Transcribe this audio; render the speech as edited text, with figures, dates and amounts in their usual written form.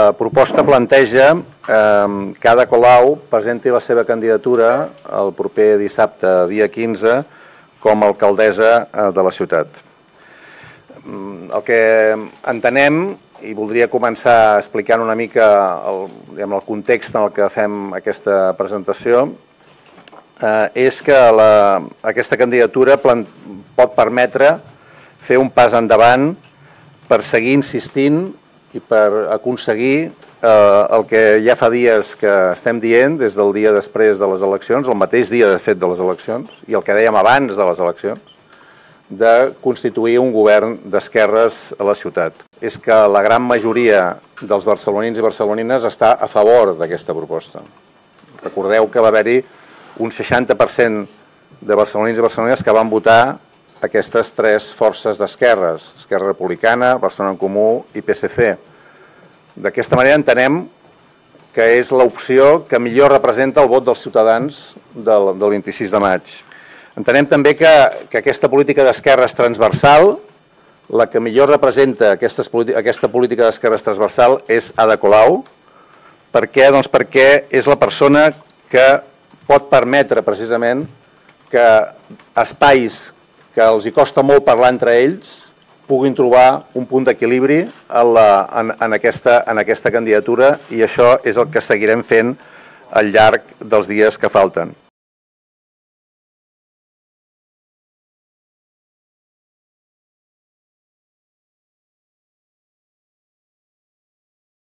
La proposta planteja que Ada Colau presenti la seva candidatura el proper dissabte, dia 15, com a alcaldessa de la ciutat. El que entenem, i voldria començar explicant una mica el context en el que fem aquesta presentació, és que aquesta candidatura pot permetre fer un pas endavant per seguir insistint i per aconseguir el que ja fa dies que estem dient, des del dia després de les eleccions, el mateix dia de fet de les eleccions, i el que dèiem abans de les eleccions, de constituir un govern d'esquerres a la ciutat. És que la gran majoria dels barcelonins i barcelonines està a favor d'aquesta proposta. Recordeu que va haver-hi un 60% de barcelonins i barcelonines que van votar aquestes tres forces d'esquerres, Esquerra Republicana, Barcelona en Comú i PSC. D'aquesta manera entenem que és l'opció que millor representa el vot dels ciutadans del 26 de maig. Entenem també que aquesta política d'esquerres transversal, la que millor representa aquesta política d'esquerres transversal és Ada Colau. Per què? Doncs perquè és la persona que pot permetre precisament que espais que els hi costa molt parlar entre ells puguin trobar un punt d'equilibri en aquesta candidatura, i això és el que seguirem fent al llarg dels dies que falten.